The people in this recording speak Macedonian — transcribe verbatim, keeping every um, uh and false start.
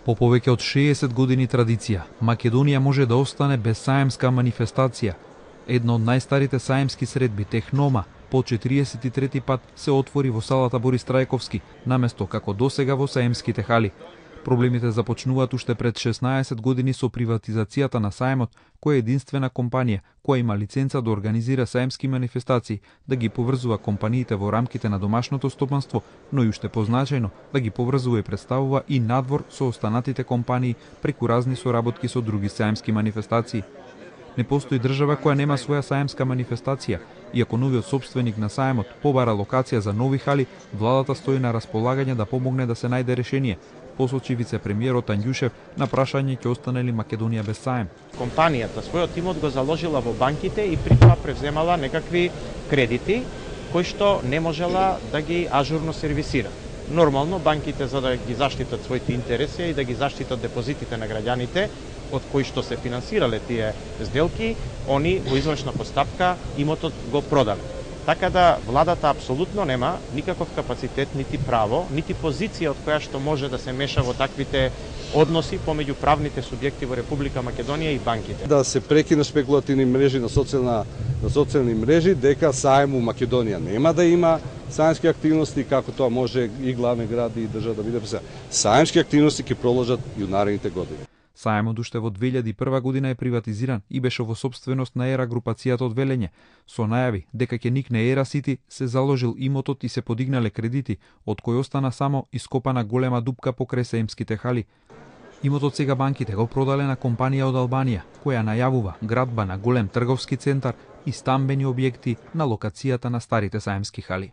По повеќе од шеесет години традиција, Македонија може да остане без саемска манифестација. Една од најстарите саемски средби, Технома, по четириесет и трети пат се отвори во салата Борис Трајковски, наместо како досега во саемските хали. Проблемите започнуваат уште пред шеснаесет години со приватизацијата на саемот, која е единствена компанија која има лиценца да организира саемски манифестации, да ги поврзува компаниите во рамките на домашното стопанство, но и уште позначајно да ги поврзува и представува и надвор со останатите компании преку разни соработки со други саемски манифестации. Не постои држава која нема своја саемска манифестација. Иако новиот собственик на саемот побара локација за нови хали, владата стои на располагање да помогне да се најде решение, посочи вице-премиерот Анѓушев на прашање ќе остане ли Македонија без саем. Компанијата својот имот го заложила во банките и при тоа превземала некакви кредити кои што не можела да ги ажурно сервисира. Нормално банките, за да ги заштитат своите интереси и да ги заштитат депозитите на граѓаните од кои што се финансирале тие сделки, они во извршна постапка имотот го продале. Така да владата апсолутно нема никаков капацитет, нити право, нити позиција од која што може да се меша во таквите односи помеѓу правните субјекти во Република Македонија и банките. Да се прекине спекулативни мрежи на социјална на социјални мрежи дека саем у Македонија нема да има саемски активности, како тоа може и главни гради и држава да биде пресаа. Саемски активности ќе продолжат и у наредните години. Саемот уште во две илјади и прва година е приватизиран и беше во собственост на Ера групацијата од Велење. Со најави дека ќе никне Ера Сити, се заложил имотот и се подигнале кредити, од кој остана само ископана голема дупка покрај саемските хали. Имотот сега банките го продале на компанија од Албанија, која најавува градба на голем трговски центар и стамбени објекти на локацијата на старите саемски хали.